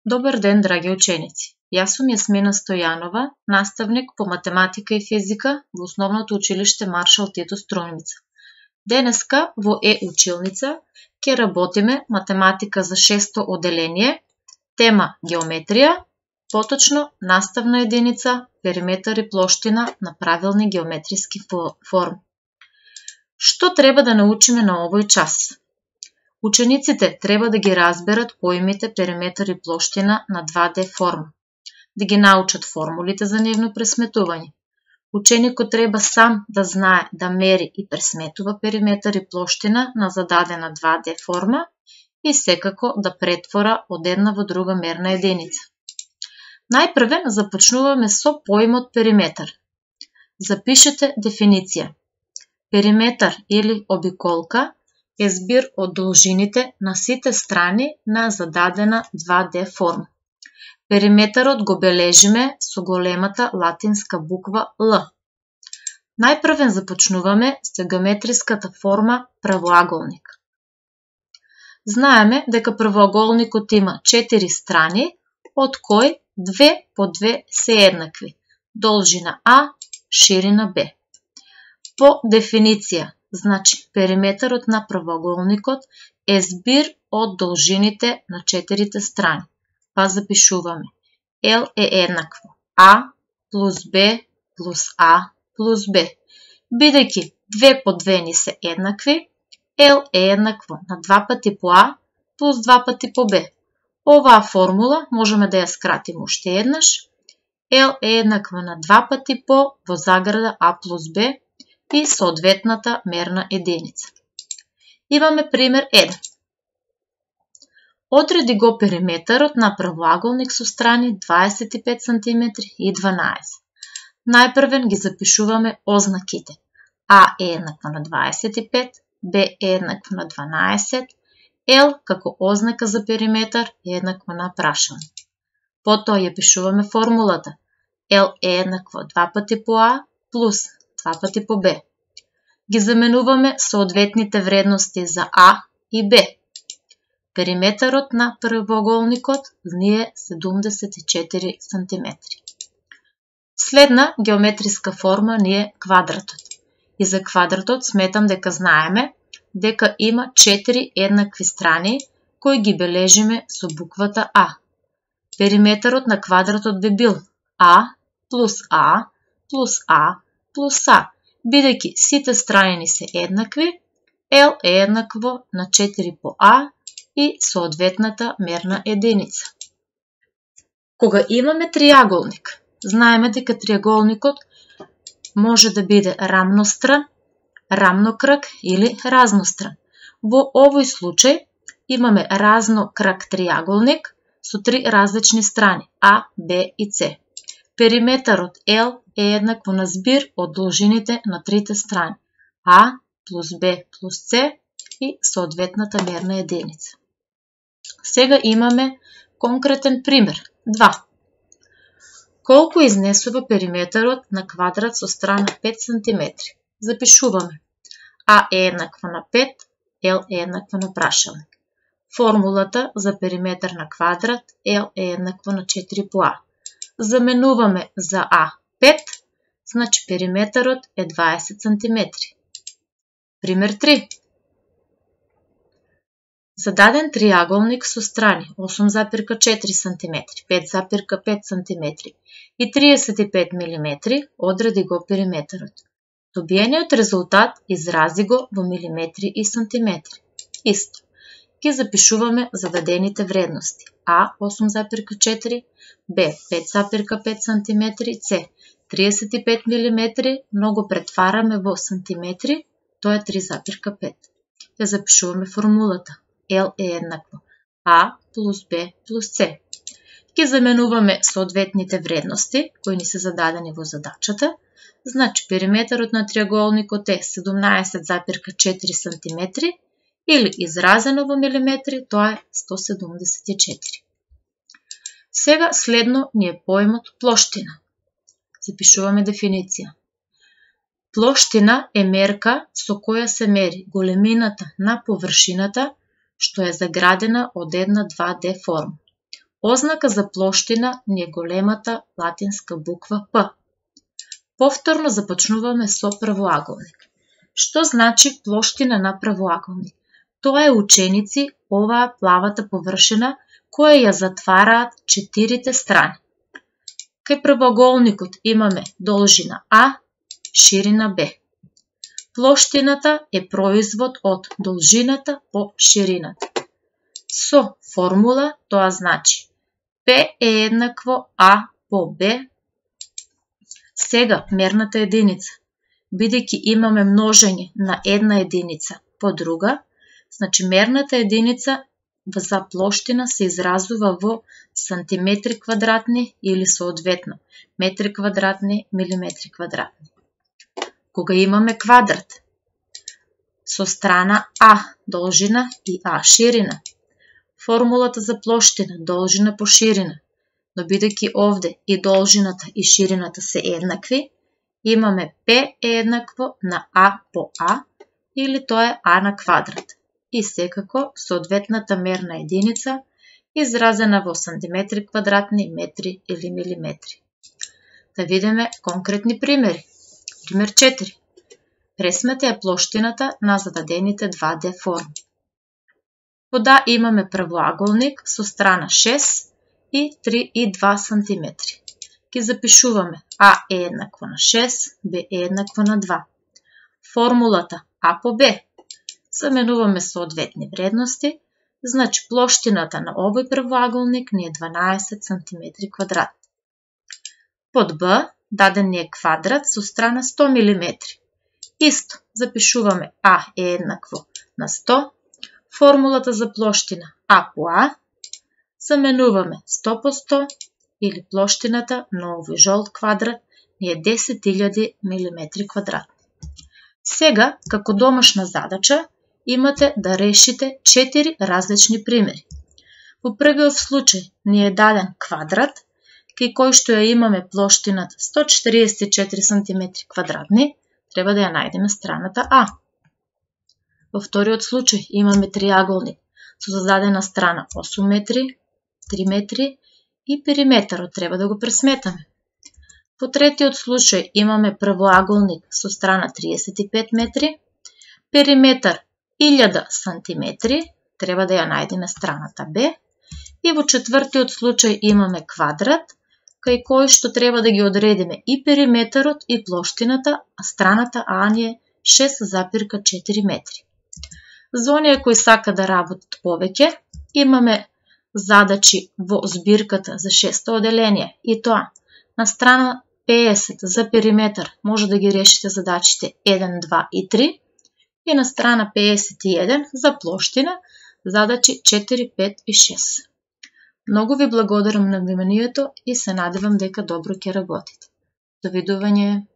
Добар ден, драги ученици! Јас сум Јасмина Стојанова, наставник по математика и физика во Основното училиште Маршал Тито Струјмица. Денеска во Е-училница ќе работиме математика за 6-то оделение, тема геометрија, поточно наставна единица, периметар и плоштина на правилни геометриски форми. Што треба да научиме на овој час? Учениците треба да ги разберат поимите периметар и плоштина на 2D форма, да ги научат формулите за нивно пресметување. Ученикот треба сам да знае да мери и пресметува периметар и плоштина на зададена 2D форма и секако да претвора од една во друга мерна единица. Најпрве започнуваме со поимот периметар. Запишете дефиниција. Периметар или обиколка е збир од должините на сите страни на зададена 2D форма. Периметарот го бележиме со големата латинска буква Л. Најпрвен започнуваме со геометриската форма правоаголник. Знаеме дека правоаголникот има 4 страни, од кои 2 по 2 се еднакви. Должина А, ширина Б. По дефиниција, значи периметарот на правоаголникот е збир од должините на 4 страни. Па запишуваме. L е еднакво А плюс Б плюс А плюс Б. Бидејќи 2 по 2 ни се еднакви, L е еднакво на 2 пати по А плюс 2 пати по Б. Оваа формула можеме да ја скратиме уште еднаш. L е еднакво на 2 пати по во заграда А плюс Б и соодветната мерна единица. Имаме пример 1. Одреди го периметарот на правоаголник со страни 25 cm и 12. Најпрвен ги запишуваме ознаките. А е еднакво на 25, Б е еднакво на 12, Л како ознака за периметар е еднакво на прашање. Потоа ја пишуваме формулата. Л е еднакво 2 пати по А плюс 2 пати по Б. Ги заменуваме соодветните вредности за А и Б. Периметарот на правоаголникот ни е 74 cm. Следна геометриска форма ни е квадратот. И за квадратот сметам дека знаеме дека има 4 еднакви страни кои ги бележиме со буквата А. Периметарот на квадратот би бил А плюс А плюс А плюс А. Бидејќи сите страни ни се еднакви, L е еднакво на 4 по А и соодветната мерна единица. Кога имаме триаголник, знаеме дека триаголникот може да биде рамностран, рамнокръг или разностран. Во овој случај имаме разнокръг триаголник со 3 различни страни А, Б и С. Периметарот L е еднакво на збир од должините на трите страни А плюс Б плюс С и соодветната мерна единица. Сега имаме конкретен пример 2. Колку изнесува периметарот на квадрат со страна 5 cm? Запишуваме. А е еднакво на 5, L е еднакво на прашалник. Формулата за периметар на квадрат L е еднакво на 4 по А. Заменуваме за А 5, значи периметарот е 20 cm. Пример 3. Зададен триаголник со страни 8,4 cm, 5,5 cm и 35 mm одреди го периметарот. Добиениот резултат изрази го во милиметри и сантиметри. Исто. Ги запишуваме зададените вредности. А 8,4, Б 5,5 cm, С 35 mm, но го претвараме во сантиметри, тоа е 3,5. Ја запишуваме формулата. L е еднакво А плюс Б плюс С. Ги заменуваме соодветните вредности, кои ни се зададени во задачата. Значи периметарот на триаголникот е 17,4 cm или изразено во милиметри, тоа е 174. Сега следно ни е поимот плоштина. Запишуваме дефиниција. Плоштина е мерка со која се мери големината на површината што е заградена од една 2D форма. Ознака за плоштина ни е големата латинска буква П. Повторно започнуваме со правоаголник. Што значи плоштина на правоаголник? Тоа е ученици, оваа плавата површина која ја затвараат четирите страни. Кај правоаголникот имаме должина А, ширина Б. Плоштината е производ од должината по ширината. Со формула тоа значи П е еднакво А по Б. Сега мерната единица, бидејќи имаме множење на една единица по друга, значи мерната единица за плоштина се изразува во сантиметри квадратни или соодветно метри квадратни, милиметри квадратни. Кога имаме квадрат со страна А должина и А ширина, формулата за плоштина должина по ширина, но бидејќи овде и должината и ширината се еднакви, имаме П е еднакво на А по А, или тоа е А на квадрат. И секако соодветната мерна единица изразена во сантиметри квадратни, метри или милиметри. Да видиме конкретни примери. Пример 4. Пресмете ја плоштината на зададените 2D форми. Под А имаме правоаголник со страна 6 и 3,2 см. Ги запишуваме А е еднакво на 6, Б е еднакво на 2. Формулата А по Б. Заменуваме соодветни вредности, значи плоштината на овој правоаголник ни е 12 см квадрат. Под Б даден ни е квадрат со страна 100 мм. Исто, запишуваме А е еднакво на 100, формулата за плоштина А по А, заменуваме 100 по 100, или плоштината на овој жолт квадрат ни е 10.000 мм квадратни. Сега, како домашна задача, имате да решите 4 различни примери. Во првиот случај ни е даден квадрат, кај кој што ја имаме плоштината 144 см квадратни, треба да ја најдеме страната А. Во вториот случај имаме триаголник со зададена страна 8 метри, 3 метри и периметарот треба да го пресметаме. По третиот случај имаме правоаголник со страна 35 метри, периметар 1000 сантиметри, треба да ја најдеме страната Б. И во четвртиот случај имаме квадрат, кај кој што треба да ги одредиме и периметарот и плоштината, а страната А ни е 6,4 метри. За оние кои сака да работат повеќе, имаме задачи во збирката за 6 оделение, и тоа на страна 50 за периметар може да ги решите задачите 1, 2 и 3, и на страна 51 за плоштина задачи 4, 5 и 6. Многу ви благодарам на вниманието и се надевам дека добро ќе работите. Довидување!